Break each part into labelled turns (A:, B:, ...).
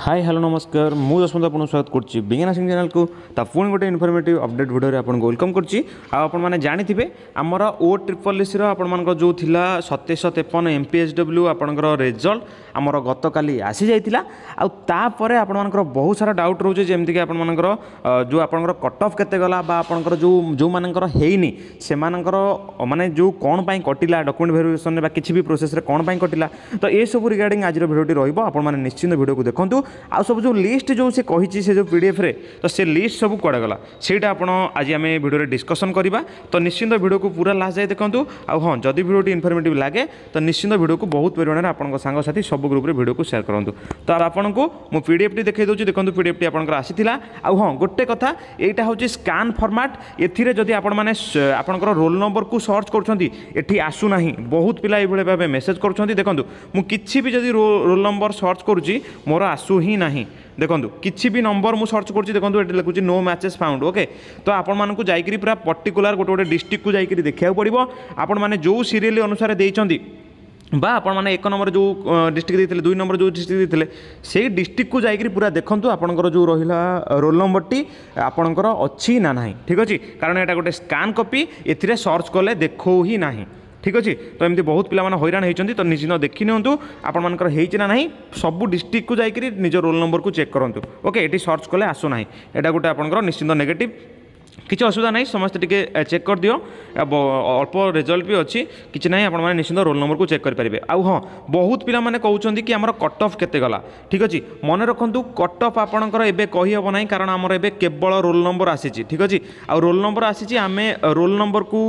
A: High, hello, ନମସ୍କାର। ମୁଁ ଯଶବନ୍ତ ଆପଣଙ୍କୁ ସ୍ୱାଗତ କରୁଛି ବିଜ୍ଞାନ ସିଂ ଚ୍ୟାନେଲକୁ। ତା ପୁଣି ଗୋଟେ ଇନଫର୍ମେଟିଭ୍ ଅପଡେଟ୍ ଭିଡ଼ିଓରେ ଆପଣଙ୍କୁ welcome କରୁଛି। ଆଉ ଆପଣମାନେ ଜାଣିଥିବେ, ଆମର ଓ ଟ୍ରିପଲ୍ ଏସ୍ସିର ଆପଣମାନଙ୍କର ଯେଉଁ ଥିଲା 2753 ଏମ୍ ପି ଏଚ୍ ଡବ୍ଲ୍ୟୁ, ଆପଣଙ୍କର ରେଜଲ୍ଟ ଆମର ଗତକାଲି ଆସିଯାଇଥିଲା। ଆଉ ତାପରେ ଆପଣମାନଙ୍କର ବହୁତ ସାରା ଡାଉଟ୍ ରହୁଛି, ଯେମିତିକି ଆପଣମାନଙ୍କର ଯେଉଁ ଆପଣଙ୍କର କଟ୍ ଅଫ୍ କେତେ ଗଲା ବା ଆପଣଙ୍କର ଯେଉଁ ଯେଉଁମାନଙ୍କର ହେଇନି, ସେମାନଙ୍କର ମାନେ ଯେଉଁ କ'ଣ ପାଇଁ କଟିଲା, ଡକୁମେଣ୍ଟ ଭେରିଫିକେସନରେ ବା କିଛି ବି ପ୍ରୋସେସ୍ରେ କ'ଣ ପାଇଁ କଟିଲା। ତ ଏସବୁ ରିଗାର୍ଡ଼ିଂ ଆଜିର ଭିଡ଼ିଓଟି ରହିବ। ଆପଣମାନେ ନିଶ୍ଚିନ୍ତ ଭିଡ଼ିଓକୁ ଦେଖନ୍ତୁ। ଆଉ ସବୁ ଯେଉଁ ଲିଷ୍ଟ ଯେଉଁ ସେ କହିଛି, ସେ ଯେଉଁ ପିଡ଼ିଏଫ୍ରେ, ତ ସେ ଲିଷ୍ଟ ସବୁ କୁଆଡ଼େ ଗଲା, ସେଇଟା ଆପଣ ଆଜି ଆମେ ଭିଡ଼ିଓରେ ଡିସ୍କସନ୍ କରିବା। ତ ନିଶ୍ଚିନ୍ତ ଭିଡ଼ିଓକୁ ପୁରା ଲାଷ୍ଟ ଯାଏ ଦେଖନ୍ତୁ। ଆଉ ହଁ, ଯଦି ଭିଡ଼ିଓଟି ଇନଫର୍ମେଟିଭ୍ ଲାଗେ, ତ ନିଶ୍ଚିନ୍ତ ଭିଡ଼ିଓକୁ ବହୁତ ପରିମାଣରେ ଆପଣଙ୍କ ସାଙ୍ଗସାଥି ସବୁ ଗ୍ରୁପ୍ରେ ଭିଡ଼ିଓକୁ ସେୟାର କରନ୍ତୁ। ତ ଆପଣଙ୍କୁ ମୁଁ ପିଡ଼ିଏଫ୍ଟି ଦେଖାଇ ଦେଉଛି। ଦେଖନ୍ତୁ, ପିଡ଼ିଏଫ୍ଟି ଆପଣଙ୍କର ଆସିଥିଲା। ଆଉ ହଁ, ଗୋଟେ କଥା, ଏଇଟା ହେଉଛି ସ୍କାନ୍ ଫର୍ମାଟ୍। ଏଥିରେ ଯଦି ଆପଣମାନେ ଆପଣଙ୍କର ରୋଲ୍ ନମ୍ବରକୁ ସର୍ଚ୍ଚ କରୁଛନ୍ତି, ଏଠି ଆସୁନାହିଁ। ବହୁତ ପିଲା ଏଇଭଳି ଭାବେ ମେସେଜ୍ କରୁଛନ୍ତି। ଦେଖନ୍ତୁ, ମୁଁ କିଛି ବି ଯଦି ରୋଲ୍ ନମ୍ବର ସର୍ଚ୍ଚ କରୁଛି, ମୋର ଆସୁ ହିଁ ନାହିଁ। ଦେଖନ୍ତୁ, କିଛି ବି ନମ୍ବର ମୁଁ ସର୍ଚ୍ଚ କରୁଛି, ଦେଖନ୍ତୁ, ଏଠି ଲେଖୁଛି "ନୋ ମ୍ୟାଚେସ୍ ଫାଉଣ୍ଡ"। ଓକେ, ତ ଆପଣମାନଙ୍କୁ ଯାଇକରି ପୁରା ପର୍ଟିକୁଲାର ଗୋଟେ ଗୋଟେ ଡିଷ୍ଟ୍ରିକ୍ଟକୁ ଯାଇକରି ଦେଖିବାକୁ ପଡ଼ିବ। ଆପଣମାନେ ଯେଉଁ ସିରିଏଲ୍ ଅନୁସାରେ ଦେଇଛନ୍ତି ବା ଆପଣମାନେ ଏକ ନମ୍ବର ଯେଉଁ ଡିଷ୍ଟ୍ରିକ୍ଟ ଦେଇଥିଲେ, ଦୁଇ ନମ୍ବର ଯେଉଁ ଡିଷ୍ଟ୍ରିକ୍ଟ ଦେଇଥିଲେ, ସେଇ ଡିଷ୍ଟ୍ରିକ୍ଟକୁ ଯାଇକରି ପୁରା ଦେଖନ୍ତୁ, ଆପଣଙ୍କର ଯେଉଁ ରହିଲା ରୋଲ୍ ନମ୍ବରଟି ଆପଣଙ୍କର ଅଛି ନା ନାହିଁ। ଠିକ୍ ଅଛି? କାରଣ ଏଇଟା ଗୋଟେ ସ୍କାନ୍ କପି, ଏଥିରେ ସର୍ଚ୍ଚ କଲେ ଦେଖାଉ ହିଁ ନାହିଁ। ଠିକ୍ ଅଛି? ତ ଏମିତି ବହୁତ ପିଲାମାନେ ହଇରାଣ ହେଇଛନ୍ତି। ତ ନିଶ୍ଚିନ୍ତ ଦେଖି ନିଅନ୍ତୁ ଆପଣମାନଙ୍କର ହେଇଛି ନା ନାହିଁ। ସବୁ ଡିଷ୍ଟ୍ରିକ୍ଟକୁ ଯାଇକରି ନିଜ ରୋଲ୍ ନମ୍ବରକୁ ଚେକ୍ କରନ୍ତୁ। ଓକେ, ଏଠି ସର୍ଚ୍ଚ କଲେ ଆସୁନାହିଁ। ଏଇଟା ଗୋଟେ ଆପଣଙ୍କର ନିଶ୍ଚିନ୍ତ ନେଗେଟିଭ୍। କିଛି ଅସୁବିଧା ନାହିଁ, ସମସ୍ତେ ଟିକେ ଚେକ୍ କରିଦିଅ। ଅଳ୍ପ ରେଜଲ୍ଟ ବି ଅଛି, କିଛି ନାହିଁ, ଆପଣମାନେ ନିଶ୍ଚିନ୍ତ ରୋଲ୍ ନମ୍ବରକୁ ଚେକ୍ କରିପାରିବେ। ଆଉ ହଁ, ବହୁତ ପିଲାମାନେ କହୁଛନ୍ତି କି ଆମର କଟ୍ ଅଫ୍ କେତେ ଗଲା। ଠିକ୍ ଅଛି? ମନେ ରଖନ୍ତୁ, କଟ୍ ଅଫ୍ ଆପଣଙ୍କର ଏବେ କହିହେବ ନାହିଁ, କାରଣ ଆମର ଏବେ କେବଳ ରୋଲ୍ ନମ୍ବର ଆସିଛି। ଠିକ୍ ଅଛି? ଆଉ ରୋଲ୍ ନମ୍ବର ଆସିଛି, ଆମେ ରୋଲ୍ ନମ୍ବରକୁ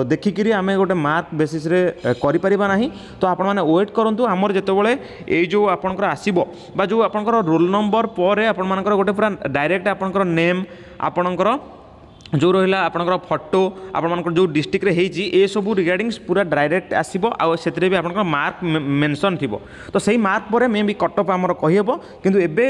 A: ଦେଖିକିରି ଆମେ ଗୋଟେ ମାର୍କ ବେସିସ୍ରେ କରିପାରିବା ନାହିଁ। ତ ଆପଣମାନେ ୱେଟ୍ କରନ୍ତୁ। ଆମର ଯେତେବେଳେ ଏଇ ଯେଉଁ ଆପଣଙ୍କର ଆସିବ ବା ଯେଉଁ ଆପଣଙ୍କର ରୋଲ୍ ନମ୍ବର ପରେ ଆପଣମାନଙ୍କର ଗୋଟେ ପୁରା ଡାଇରେକ୍ଟ ଆପଣଙ୍କର ନେମ୍, ଆପଣଙ୍କର ଯେଉଁ ରହିଲା ଆପଣଙ୍କର ଫଟୋ, ଆପଣମାନଙ୍କର ଯେଉଁ ଡିଷ୍ଟ୍ରିକ୍ଟରେ ହେଇଛି, ଏସବୁ ରିଗାର୍ଡ଼ିଂ ପୁରା ଡାଇରେକ୍ଟ ଆସିବ। ଆଉ ସେଥିରେ ବି ଆପଣଙ୍କର ମାର୍କ ମେନସନ୍ ଥିବ। ତ ସେଇ ମାର୍କ ପରେ ମେ ବି କଟ୍ ଅଫ୍ ଆମର କହିହେବ। କିନ୍ତୁ ଏବେ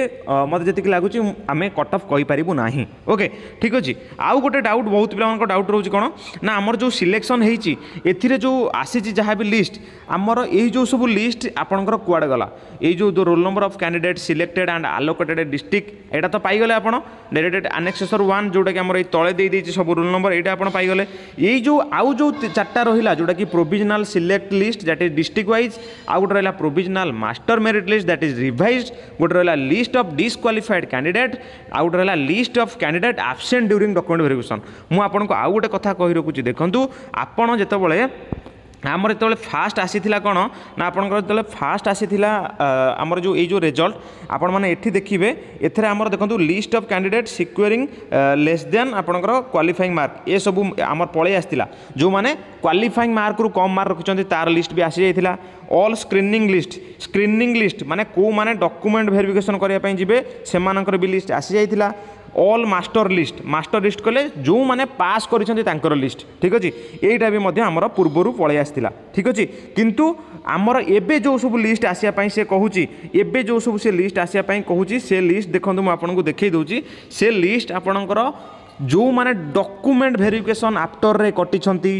A: ମୋତେ ଯେତିକି ଲାଗୁଛି, ଆମେ କଟ୍ ଅଫ୍ କହିପାରିବୁ ନାହିଁ। ଓକେ, ଠିକ୍ ଅଛି। ଆଉ ଗୋଟେ ଡାଉଟ୍, ବହୁତ ପିଲାମାନଙ୍କ ଡାଉଟ୍ ରହୁଛି କ'ଣ ନା, ଆମର ଯେଉଁ ସିଲେକ୍ସନ୍ ହେଇଛି, ଏଥିରେ ଯେଉଁ ଆସିଛି ଯାହା ବି ଲିଷ୍ଟ, ଆମର ଏଇ ଯେଉଁ ସବୁ ଲିଷ୍ଟ ଆପଣଙ୍କର କୁଆଡ଼େ ଗଲା? ଏଇ ଯେଉଁ roll number of candidate selected and allocated district, ଏଇଟା ତ ପାଇଗଲେ ଆପଣ ଡାଇରେକ୍ଟ ଆନେକ୍ସେସର 1, ଯେଉଁଟାକି ଆମର ଏଇ ତଳେ ଦେଇଦେଇଛି ସବୁ ରୋଲ୍ ନମ୍ବର, ଏଇଟା ଆପଣ ପାଇଗଲେ। ଏଇ ଯେଉଁ ଆଉ ଯେଉଁ ଚାରିଟା ରହିଲା, ଯେଉଁଟାକି provisional select list, that is district wise, ଆଉ ଗୋଟେ ରହିଲା provisional master merit list, that is revised, ଗୋଟେ ରହିଲା ଲିଷ୍ଟ ଅଫ୍ ଡିସ୍କ୍ୱାଲିଫାଏଡ୍ କ୍ୟାଣ୍ଡିଡେଟ୍, ଆଉ ଗୋଟେ ରହିଲା list of candidate absent during document verification। ମୁଁ ଆପଣଙ୍କୁ ଆଉ ଗୋଟେ କଥା କହି ରଖୁଛି। ଦେଖନ୍ତୁ, ଆପଣ ଯେତେବେଳେ ଆମର ଯେତେବେଳେ ଫାଷ୍ଟ ଆସିଥିଲା କ'ଣ ନା, ଆପଣଙ୍କର ଯେତେବେଳେ ଫାଷ୍ଟ ଆସିଥିଲା ଆମର ଯେଉଁ ଏଇ ଯେଉଁ ରେଜଲ୍ଟ, ଆପଣମାନେ ଏଠି ଦେଖିବେ, ଏଥିରେ ଆମର ଦେଖନ୍ତୁ, list of candidate securing less than ଆପଣଙ୍କର କ୍ୱାଲିଫାଇଂ ମାର୍କ, ଏସବୁ ଆମର ପଳେଇ ଆସିଥିଲା। ଯେଉଁମାନେ କ୍ୱାଲିଫାଇଂ ମାର୍କରୁ କମ୍ ମାର୍କ ରଖିଛନ୍ତି, ତାର ଲିଷ୍ଟ ବି ଆସିଯାଇଥିଲା। All screening list, screening list ମାନେ କେଉଁମାନେ ଡକୁମେଣ୍ଟ ଭେରିଫିକେସନ୍ କରିବା ପାଇଁ ଯିବେ, ସେମାନଙ୍କର ବି list ଆସିଯାଇଥିଲା। All master list, master list କଲେ ଯେଉଁମାନେ ପାସ୍ କରିଛନ୍ତି ତାଙ୍କର ଲିଷ୍ଟ। ଠିକ୍ ଅଛି? ଏଇଟା ବି ମଧ୍ୟ ଆମର ପୂର୍ବରୁ ପଳେଇ ଆସିଥିଲା। ଠିକ୍ ଅଛି? କିନ୍ତୁ ଆମର ଏବେ ଯେଉଁ ସବୁ ଲିଷ୍ଟ ଆସିବା ପାଇଁ ସେ କହୁଛି, ଏବେ ଯେଉଁ ସବୁ ସେ ଲିଷ୍ଟ ଆସିବା ପାଇଁ କହୁଛି, ସେ ଲିଷ୍ଟ ଦେଖନ୍ତୁ, ମୁଁ ଆପଣଙ୍କୁ ଦେଖାଇ ଦେଉଛି। ସେ ଲିଷ୍ଟ ଆପଣଙ୍କର ଯେଉଁମାନେ ଡକୁମେଣ୍ଟ ଭେରିଫିକେସନ୍ ଆଫ୍ଟରରେ କଟିଛନ୍ତି,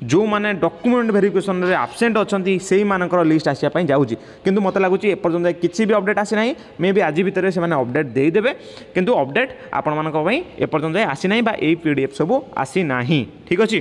A: ଯେଉଁମାନେ ଡକୁମେଣ୍ଟ ଭେରିଫିକେସନ୍ରେ ଆବସେଣ୍ଟ ଅଛନ୍ତି, ସେଇମାନଙ୍କର ଲିଷ୍ଟ ଆସିବା ପାଇଁ ଯାଉଛି। କିନ୍ତୁ ମୋତେ ଲାଗୁଛି ଏପର୍ଯ୍ୟନ୍ତ କିଛି ବି ଅପଡ଼େଟ୍ ଆସିନାହିଁ। ମେ ବି ଆଜି ଭିତରେ ସେମାନେ ଅପଡ଼େଟ୍ ଦେଇଦେବେ। କିନ୍ତୁ ଅପଡ଼େଟ୍ ଆପଣମାନଙ୍କ ପାଇଁ ଏପର୍ଯ୍ୟନ୍ତ ଆସିନାହିଁ ବା ଏଇ ପିଡ଼ିଏଫ୍ ସବୁ ଆସିନାହିଁ। ଠିକ୍ ଅଛି?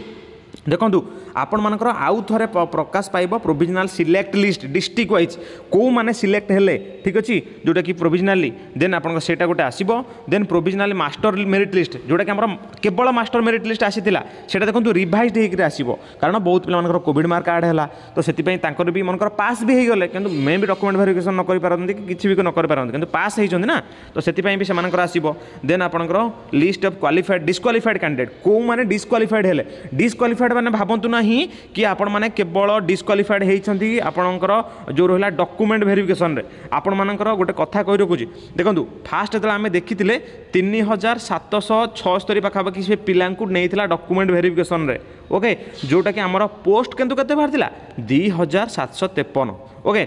A: ଦେଖନ୍ତୁ, ଆପଣମାନଙ୍କର ଆଉ ଥରେ ପ୍ରକାଶ ପାଇବ provisional select list district wise, କେଉଁମାନେ ସିଲେକ୍ଟ ହେଲେ। ଠିକ୍ ଅଛି? ଯେଉଁଟାକି ପ୍ରୋଭିଜନାଲି, ଦେନ୍ ଆପଣଙ୍କ ସେଇଟା ଗୋଟେ ଆସିବ। Then provisionally master merit list, ଯେଉଁଟାକି ଆମର କେବଳ ମାଷ୍ଟର ମେରିଟ୍ ଲିଷ୍ଟ ଆସିଥିଲା, ସେଇଟା ଦେଖନ୍ତୁ ରିଭାଇଜ୍ ହେଇକରି ଆସିବ। କାରଣ ବହୁତ ପିଲାମାନଙ୍କର କୋଭିଡ଼ ମାର୍କ ଆଡ଼୍ ହେଲା, ତ ସେଥିପାଇଁ ତାଙ୍କର ବି ମନେକର ପାସ୍ ବି ହେଇଗଲେ, କିନ୍ତୁ ମେ ବି ଡକୁମେଣ୍ଟ ଭେରିଫିକେସନ୍ ନ କରିପାରନ୍ତି କି କିଛି ବି ନ କରିପାରନ୍ତି, କିନ୍ତୁ ପାସ୍ ହେଇଛନ୍ତି ନା, ତ ସେଥିପାଇଁ ବି ସେମାନଙ୍କର ଆସିବ। ଦେନ୍ ଆପଣଙ୍କର list of qualified, disqualified candidate, କେଉଁମାନେ ଡିସ୍କ୍ୱାଲିଫାଏଡ୍ ହେଲେ। ଡିସ୍କ୍ୱାଲିଫାଏଡ୍ ମାନେ ଭାବନ୍ତୁ ନାହିଁ କି ଆପଣମାନେ କେବଳ ଡିସ୍କ୍ୱାଲିଫାଏଡ୍ ହେଇଛନ୍ତି ଆପଣଙ୍କର ଯେଉଁ ରହିଲା ଡକୁମେଣ୍ଟ ଭେରିଫିକେସନ୍ରେ। ଆପଣମାନଙ୍କର ଗୋଟେ କଥା କହି ରଖୁଛି। ଦେଖନ୍ତୁ, ଫାଷ୍ଟ ଯେତେବେଳେ ଆମେ ଦେଖିଥିଲେ, 3776 ପାଖାପାଖି ସେ ପିଲାଙ୍କୁ ନେଇଥିଲା ଡକୁମେଣ୍ଟ ଭେରିଫିକେସନ୍ରେ। ଓକେ, ଯେଉଁଟାକି ଆମର ପୋଷ୍ଟ କିନ୍ତୁ କେତେ ବାହାରିଥିଲା? 2753। ଓକେ।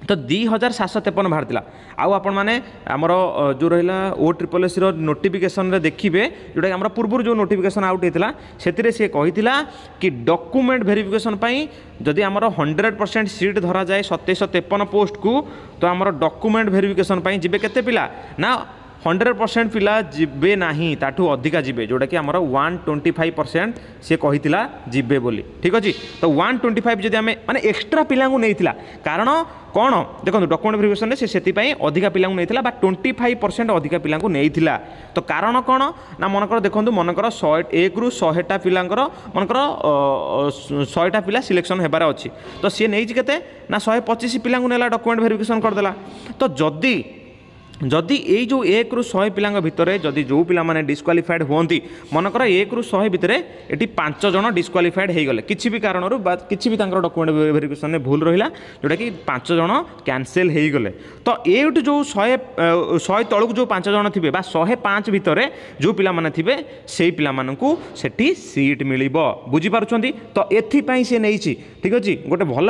A: ତ 2753 ବାହାରିଥିଲା। ଆଉ ଆପଣମାନେ ଆମର ଯେଉଁ ରହିଲା ଓ ଟ୍ରିପଲ୍ ଏସ୍ସିର ନୋଟିଫିକେସନ୍ରେ ଦେଖିବେ, ଯେଉଁଟାକି ଆମର ପୂର୍ବରୁ ଯେଉଁ ନୋଟିଫିକେସନ୍ ଆଉଟ୍ ହେଇଥିଲା, ସେଥିରେ ସିଏ କହିଥିଲା କି ଡକୁମେଣ୍ଟ ଭେରିଫିକେସନ୍ ପାଇଁ ଯଦି ଆମର 100% ସିଟ୍ ଧରାଯାଏ 2753 ପୋଷ୍ଟକୁ, ତ ଆମର ଡକୁମେଣ୍ଟ ଭେରିଫିକେସନ୍ ପାଇଁ ଯିବେ କେତେ ପିଲା ନା 100% ପିଲା ଯିବେ ନାହିଁ, ତାଠୁ ଅଧିକା ଯିବେ, ଯେଉଁଟାକି ଆମର 125% ସିଏ କହିଥିଲା ଯିବେ ବୋଲି। ଠିକ୍ ଅଛି? ତ 125 ଯଦି ଆମେ ମାନେ ଏକ୍ସଟ୍ରା ପିଲାଙ୍କୁ ନେଇଥିଲା, କାରଣ କ'ଣ ଦେଖନ୍ତୁ, ଡକୁମେଣ୍ଟ ଭେରିଫିକେସନରେ ସେ ସେଥିପାଇଁ ଅଧିକା ପିଲାଙ୍କୁ ନେଇଥିଲା ବା 25% ଅଧିକା ପିଲାଙ୍କୁ ନେଇଥିଲା। ତ କାରଣ କ'ଣ ନା ମନେକର ଦେଖନ୍ତୁ, ମନେକର 101ରୁ 100ଟା ପିଲାଙ୍କର, ମନେକର 100ଟା ପିଲା ସିଲେକ୍ସନ୍ ହେବାର ଅଛି, ତ ସିଏ ନେଇଛି କେତେ ନା 125 ପିଲାଙ୍କୁ ନେଲା, ଡକୁମେଣ୍ଟ ଭେରିଫିକେସନ୍ କରିଦେଲା। ତ ଯଦି ଏଇ ଯେଉଁ 1ରୁ 100 ପିଲାଙ୍କ ଭିତରେ ଯଦି ଯେଉଁ ପିଲାମାନେ ଡିସ୍କ୍ୱାଲିଫାଏଡ଼୍ ହୁଅନ୍ତି, ମନେକର 1ରୁ 100 ଭିତରେ ଏଠି 5 ଜଣ ଡିସ୍କ୍ୱାଲିଫାଏଡ଼୍ ହେଇଗଲେ କିଛି ବି କାରଣରୁ ବା କିଛି ବି ତାଙ୍କର ଡକୁମେଣ୍ଟ ଭେରିଫିକେସନରେ ଭୁଲ ରହିଲା, ଯେଉଁଟାକି 5 ଜଣ କ୍ୟାନସେଲ୍ ହେଇଗଲେ, ତ ଏଇଠୁ ଯେଉଁ 100 ତଳକୁ ଯେଉଁ 5 ଜଣ ଥିବେ ବା 105 ଭିତରେ ଯେଉଁ ପିଲାମାନେ ଥିବେ, ସେଇ ପିଲାମାନଙ୍କୁ ସେଠି ସିଟ୍ ମିଳିବ। ବୁଝିପାରୁଛନ୍ତି ତ? ଏଥିପାଇଁ ସେ ନେଇଛି। ଠିକ୍ ଅଛି? ଗୋଟେ ଭଲ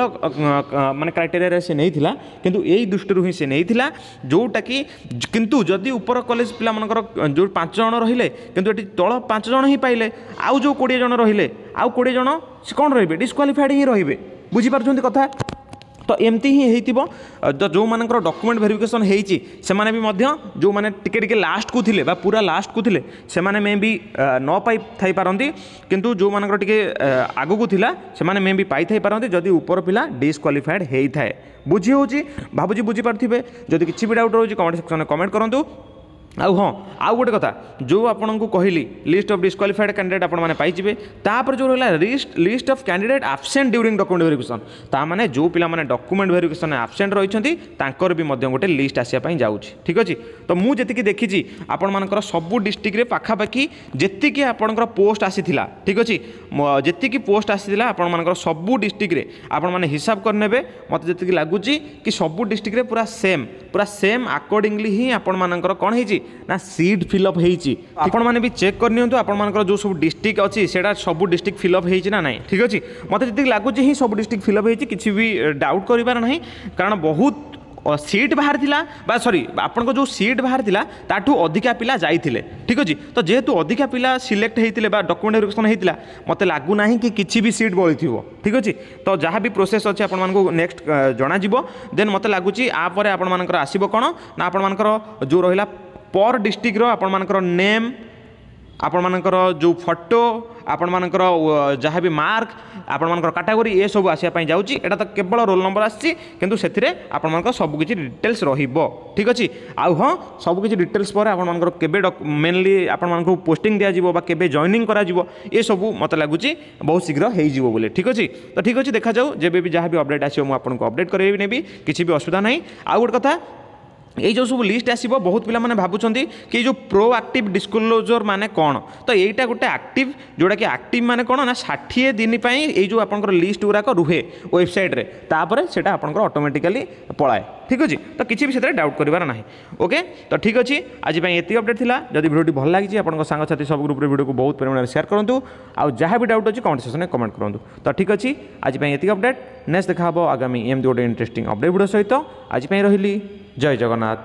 A: ମାନେ କ୍ରାଇଟେରିଆରେ ସେ ନେଇଥିଲା, କିନ୍ତୁ ଏଇ ଦୃଷ୍ଟିରୁ ହିଁ ସେ ନେଇଥିଲା ଯେଉଁଟାକି। କିନ୍ତୁ ଯଦି ଉପର କଲେଜ ପିଲାମାନଙ୍କର ଯେଉଁ 5 ଜଣ ରହିଲେ, କିନ୍ତୁ ଏଠି ତଳ 5 ଜଣ ହିଁ ପାଇଲେ, ଆଉ ଯେଉଁ 20 ଜଣ ରହିଲେ, ଆଉ 20 ଜଣ ସେ କ'ଣ ରହିବେ? ଡିସ୍କ୍ୱାଲିଫାଏଡ଼୍ ହିଁ ରହିବେ। ବୁଝିପାରୁଛନ୍ତି କଥା? ତ ଏମିତି ହିଁ ହେଇଥିବ। ତ ଯେଉଁମାନଙ୍କର ଡକୁମେଣ୍ଟ ଭେରିଫିକେସନ୍ ହେଇଛି, ସେମାନେ ବି ମଧ୍ୟ ଯେଉଁମାନେ ଟିକେ ଟିକେ ଲାଷ୍ଟକୁ ଥିଲେ ବା ପୁରା ଲାଷ୍ଟକୁ ଥିଲେ, ସେମାନେ ମେ ବି ନ ପାଇ ଥାଇପାରନ୍ତି, କିନ୍ତୁ ଯେଉଁମାନଙ୍କର ଟିକେ ଆଗକୁ ଥିଲା, ସେମାନେ ମେ ବି ପାଇଥାଇପାରନ୍ତି ଯଦି ଉପର ପିଲା ଡିସ୍କ୍ୱାଲିଫାଏଡ଼୍ ହେଇଥାଏ। ବୁଝି ହେଉଛି? ଭାବୁଛି ବୁଝିପାରୁଥିବେ। ଯଦି କିଛି ବି ଡାଉଟ୍ ରହୁଛି, କମେଣ୍ଟ ସେକ୍ସନରେ କମେଣ୍ଟ କରନ୍ତୁ। ଆଉ ହଁ, ଆଉ ଗୋଟେ କଥା, ଯେଉଁ ଆପଣଙ୍କୁ କହିଲି ଲିଷ୍ଟ ଅଫ୍ ଡିସ୍କ୍ୱାଲିଫାଏଡ଼୍ କ୍ୟାଣ୍ଡିଡେଟ୍ ଆପଣମାନେ ପାଇଯିବେ। ତାପରେ ଯେଉଁ ରହିଲା list of candidate absent during document verification, ତା ମାନେ ଯେଉଁ ପିଲାମାନେ ଡକୁମେଣ୍ଟ ଭେରିଫିକେସନ୍ ଆବସେଣ୍ଟ ରହିଛନ୍ତି, ତାଙ୍କର ବି ମଧ୍ୟ ଗୋଟେ ଲିଷ୍ଟ ଆସିବା ପାଇଁ ଯାଉଛି। ଠିକ୍ ଅଛି? ତ ମୁଁ ଯେତିକି ଦେଖିଛି, ଆପଣମାନଙ୍କର ସବୁ ଡିଷ୍ଟ୍ରିକ୍ଟରେ ପାଖାପାଖି ଯେତିକି ଆପଣଙ୍କର ପୋଷ୍ଟ ଆସିଥିଲା, ଠିକ୍ ଅଛି, ଯେତିକି ପୋଷ୍ଟ ଆସିଥିଲା ଆପଣମାନଙ୍କର ସବୁ ଡିଷ୍ଟ୍ରିକ୍ଟରେ, ଆପଣମାନେ ହିସାବ କରିନେବେ, ମୋତେ ଯେତିକି ଲାଗୁଛି କି ସବୁ ଡିଷ୍ଟ୍ରିକ୍ଟରେ ପୁରା ସେମ୍ ଆକର୍ଡ଼ିଂଲି ହିଁ ଆପଣମାନଙ୍କର କ'ଣ ହେଇଛି ନା ସିଟ୍ ଫିଲ୍ଅପ୍ ହେଇଛି। ଆପଣମାନେ ବି ଚେକ୍ କରିନିଅନ୍ତୁ, ଆପଣମାନଙ୍କର ଯେଉଁ ସବୁ ଡିଷ୍ଟ୍ରିକ୍ଟ ଅଛି, ସେଇଟା ସବୁ ଡିଷ୍ଟ୍ରିକ୍ଟ ଫିଲ୍ଅପ୍ ହେଇଛି ନା ନାହିଁ। ଠିକ୍ ଅଛି? ମୋତେ ଯେତିକି ଲାଗୁଛି ହିଁ ସବୁ ଡିଷ୍ଟ୍ରିକ୍ଟ ଫିଲ୍ଅପ୍ ହେଇଛି। କିଛି ବି ଡାଉଟ୍ କରିବାର ନାହିଁ, କାରଣ ବହୁତ ସିଟ୍ ବାହାରିଥିଲା ବା ସରି, ଆପଣଙ୍କ ଯେଉଁ ସିଟ୍ ବାହାରିଥିଲା ତାଠୁ ଅଧିକା ପିଲା ଯାଇଥିଲେ। ଠିକ୍ ଅଛି? ତ ଯେହେତୁ ଅଧିକା ପିଲା ସିଲେକ୍ଟ ହେଇଥିଲେ ବା ଡକୁମେଣ୍ଟ ଭେରିଫିକେସନ୍ ହେଇଥିଲା, ମୋତେ ଲାଗୁନାହିଁ କି କିଛି ବି ସିଟ୍ ବଳିଥିବ। ଠିକ୍ ଅଛି? ତ ଯାହା ବି ପ୍ରୋସେସ୍ ଅଛି, ଆପଣମାନଙ୍କୁ ନେକ୍ସଟ ଜଣାଯିବ। ଦେନ୍ ମୋତେ ଲାଗୁଛି ଆ ପରେ ଆପଣମାନଙ୍କର ଆସିବ କ'ଣ ନା ଆପଣମାନଙ୍କର ଯେଉଁ ରହିଲା ପର୍ ଡିଷ୍ଟ୍ରିକ୍ଟର ଆପଣମାନଙ୍କର ନେମ୍, ଆପଣମାନଙ୍କର ଯେଉଁ ଫଟୋ, ଆପଣମାନଙ୍କର ଯାହା ବି ମାର୍କ, ଆପଣମାନଙ୍କର କାଟାଗୋରୀ, ଏସବୁ ଆସିବା ପାଇଁ ଯାଉଛି। ଏଇଟା ତ କେବଳ ରୋଲ୍ ନମ୍ବର ଆସିଛି, କିନ୍ତୁ ସେଥିରେ ଆପଣମାନଙ୍କର ସବୁକିଛି ଡିଟେଲ୍ସ ରହିବ। ଠିକ୍ ଅଛି? ଆଉ ହଁ, ସବୁକିଛି ଡିଟେଲ୍ସ ପରେ ଆପଣମାନଙ୍କର କେବେ ମେନଲି ଆପଣମାନଙ୍କୁ ପୋଷ୍ଟିଂ ଦିଆଯିବ ବା କେବେ ଜଏନିଂ କରାଯିବ, ଏସବୁ ମୋତେ ଲାଗୁଛି ବହୁତ ଶୀଘ୍ର ହେଇଯିବ ବୋଲି। ଠିକ୍ ଅଛି? ତ ଠିକ୍ ଅଛି, ଦେଖାଯାଉ। ଯେବେ ବି ଯାହା ବି ଅପଡ଼େଟ୍ ଆସିବ, ମୁଁ ଆପଣଙ୍କୁ ଅପଡ଼େଟ୍ କରାଇବି ନେବି, କିଛି ବି ଅସୁବିଧା ନାହିଁ। ଆଉ ଗୋଟେ କଥା, ଏଇ ଯେଉଁ ସବୁ ଲିଷ୍ଟ ଆସିବ, ବହୁତ ପିଲାମାନେ ଭାବୁଛନ୍ତି କି ଏଇ ଯେଉଁ ପ୍ରୋ ଆକ୍ଟିଭ୍ ଡିସକ୍ଲୋଜର୍ ମାନେ କ'ଣ? ତ ଏଇଟା ଗୋଟେ ଆକ୍ଟିଭ୍, ଯେଉଁଟାକି ଆକ୍ଟିଭ୍ ମାନେ କ'ଣ ନା 60 ଦିନ ପାଇଁ ଏଇ ଯେଉଁ ଆପଣଙ୍କର ଲିଷ୍ଟ ଗୁଡ଼ାକ ରୁହେ ୱେବସାଇଟ୍ରେ, ତାପରେ ସେଇଟା ଆପଣଙ୍କର ଅଟୋମେଟିକାଲି ପଳାଏ। ଠିକ୍ ଅଛି? ତ କିଛି ବି ସେଥିରେ ଡାଉଟ୍ କରିବାର ନାହିଁ। ଓକେ, ତ ଠିକ୍ ଅଛି, ଆଜି ପାଇଁ ଏତିକି ଅପଡ଼େଟ୍ ଥିଲା। ଯଦି ଭିଡ଼ିଓଟି ଭଲ ଲାଗିଛି, ଆପଣଙ୍କ ସାଙ୍ଗସାଥି ସବୁ ଗ୍ରୁପ୍ରେ ଭିଡ଼ିଓକୁ ବହୁତ ପରିମାଣରେ ସେୟାର କରନ୍ତୁ। ଆଉ ଯାହା ବି ଡାଉଟ୍ ଅଛି, କମେଣ୍ଟ ସେକ୍ସନରେ କମେଣ୍ଟ କରନ୍ତୁ। ତ ଠିକ୍ ଅଛି, ଆଜି ପାଇଁ ଏତିକି ଅପଡ଼େଟ୍। ନେକ୍ସଟ ଦେଖା ହେବ ଆଗାମୀ ଏମିତି ଗୋଟେ ଇଣ୍ଟରେଷ୍ଟିଂ ଅପଡ଼େଟ୍ ଭିଡ଼ିଓ ସହିତ। ଆଜି ପାଇଁ ରହିଲି, ଜୟ ଜଗନ୍ନାଥ।